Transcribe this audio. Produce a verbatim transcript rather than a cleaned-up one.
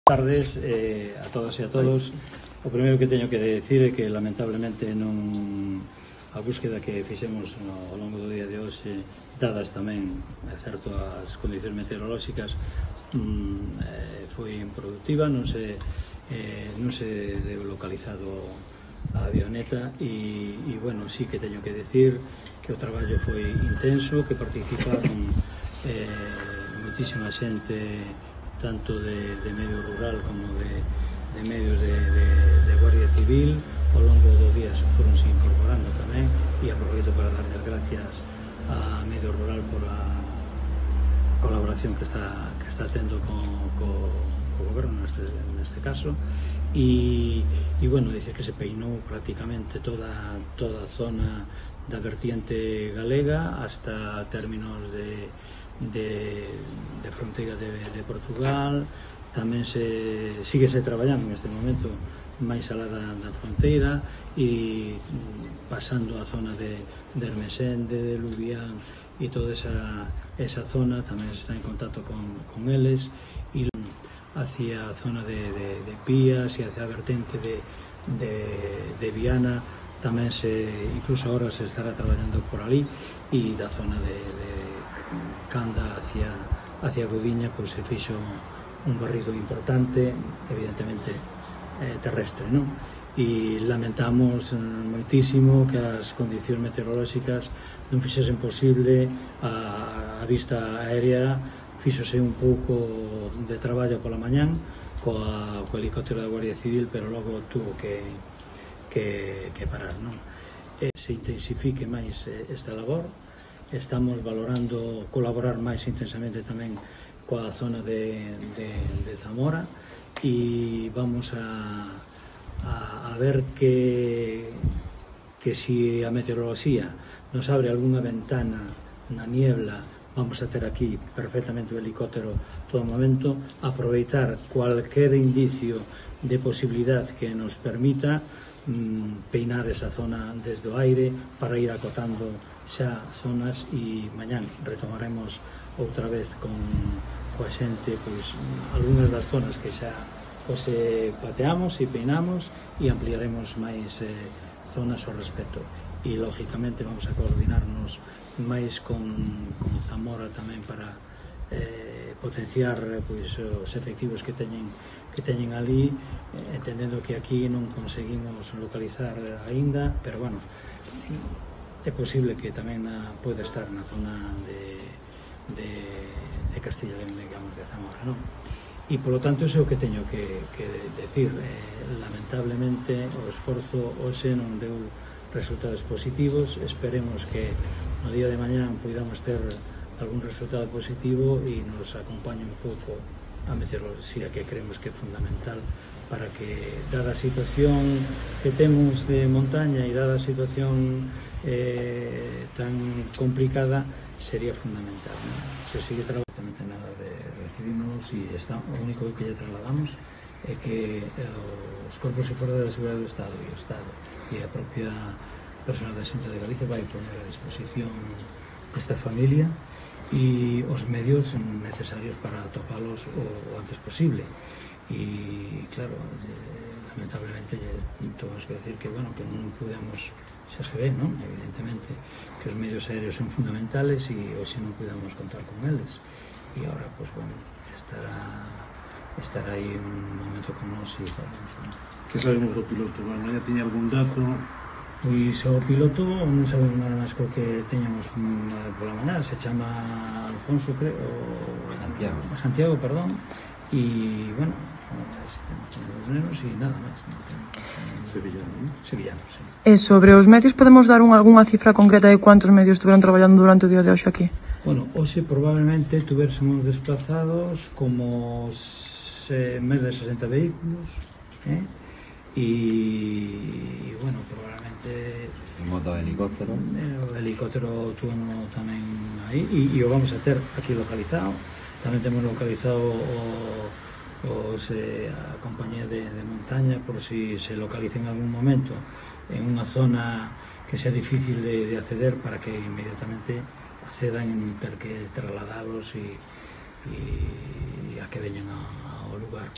tardes eh, a todas e a todos. O primeiro que teño que decir é que lamentablemente non a búsqueda que fixemos no, ao longo do día de hoxe, dadas tamén, é certo, as condicións meteorolóxicas, mm, eh, foi improductiva, non se, eh, non se deu localizado a avioneta e, e bueno, sí que teño que decir que o traballo foi intenso, que participaron eh, moitísima xente tanto de, de medio rural como de, de medios de, de, de Guardia Civil. Ao longo dos días foron se incorporando tamén e aproveito para dar as gracias a medio rural por a colaboración que está, que está tendo co, co, co goberno neste, neste caso e, e bueno, dice que se peinou prácticamente toda, toda a zona da vertiente galega hasta términos de De, de fronteira de, de Portugal. Tamén se síguese traballando neste momento máis alá da, da fronteira e pasando a zona de, de Ermesende, de Lubián e toda esa, esa zona tamén se está en contacto con, con eles e hacia a zona de, de, de Pías e hacia a vertente de, de, de Viana tamén se, incluso ahora se estará traballando por ali e da zona de, de Canda hacia, hacia Godiña pois se fixo un barrido importante, evidentemente eh, terrestre, non? E lamentamos moitísimo que as condicións meteorolóxicas non fixesen posible a, a vista aérea. Fíxose un pouco de traballo pola mañán coa, co helicóptero da Guardia Civil, pero logo tuvo que, que, que parar, non? E se intensifique máis esta labor. Estamos valorando colaborar máis intensamente tamén coa zona de, de, de Zamora e vamos a, a, a ver que, que si a meteoroloxía nos abre algunha ventana na niebla, vamos a ter aquí perfectamente o helicóptero todo o momento, aproveitar cualquier indicio de posibilidad que nos permita mm, peinar esa zona desde o aire para ir acotando xa zonas e mañán retomaremos outra vez con coa xente pois algunhas das zonas que xa pois, eh, pateamos e peinamos e ampliaremos máis eh, zonas ao respecto e lógicamente vamos a coordinarnos máis con, con Zamora tamén para eh, potenciar pois, os efectivos que teñen que teñen ali, eh, entendendo que aquí non conseguimos localizar aínda, pero bueno, é posible que tamén na, pode estar na zona de, de, de Castilla e León, digamos, de Zamora, non? E, polo tanto, iso é o que teño que, que decir. Eh, lamentablemente, o esforzo hoxe non deu resultados positivos. Esperemos que no día de mañán podamos ter algún resultado positivo e nos acompañe un pouco a meteoroloxía, que creemos que é fundamental para que, dada a situación que temos de montaña e dada a situación eh, tan complicada, sería fundamental, ¿no? Se sigue traballando nada de recibimos e está, o único que lle trasladamos é que eh, os corpos e forzas da seguridade do Estado e o Estado e a propia personal da Xunta de Galicia vai poner a disposición desta familia e os medios necesarios para atopalos o, o antes posible. E claro, eh, lamentablemente temos que decir que, bueno, que non podemos, xa se ve, non? Evidentemente que os medios aéreos son fundamentales e hoxe non podemos contar con eles e agora, pues bueno, estará estará aí un momento con nós e falamos, non? Que sabemos do piloto? Bueno, ya tiña algún dato? Pois o piloto non sabemos nada máis co que teñamos pola mañá, se chama Alfonso, creo, Santiago, Santiago, perdón, e, bueno, os nenos e nada máis. Sevillano, non? Sevillano, sí. E sobre os medios, podemos dar un, algunha cifra concreta de cuántos medios estuveron traballando durante o día de hoxe aquí? Bueno, hoxe probablemente tuvérsemos desplazados como se, máis de sesenta vehículos, eh? E, bueno, probablemente en moto de helicóptero o helicóptero tuvo tamén aí e, e o vamos a ter aquí localizado. Tamén temos localizado o, os, eh, a compañía de, de montaña por si se localiza en algún momento en unha zona que sea difícil de, de acceder para que inmediatamente accedan en ter que trasladalos e, e a que veñan ao lugar.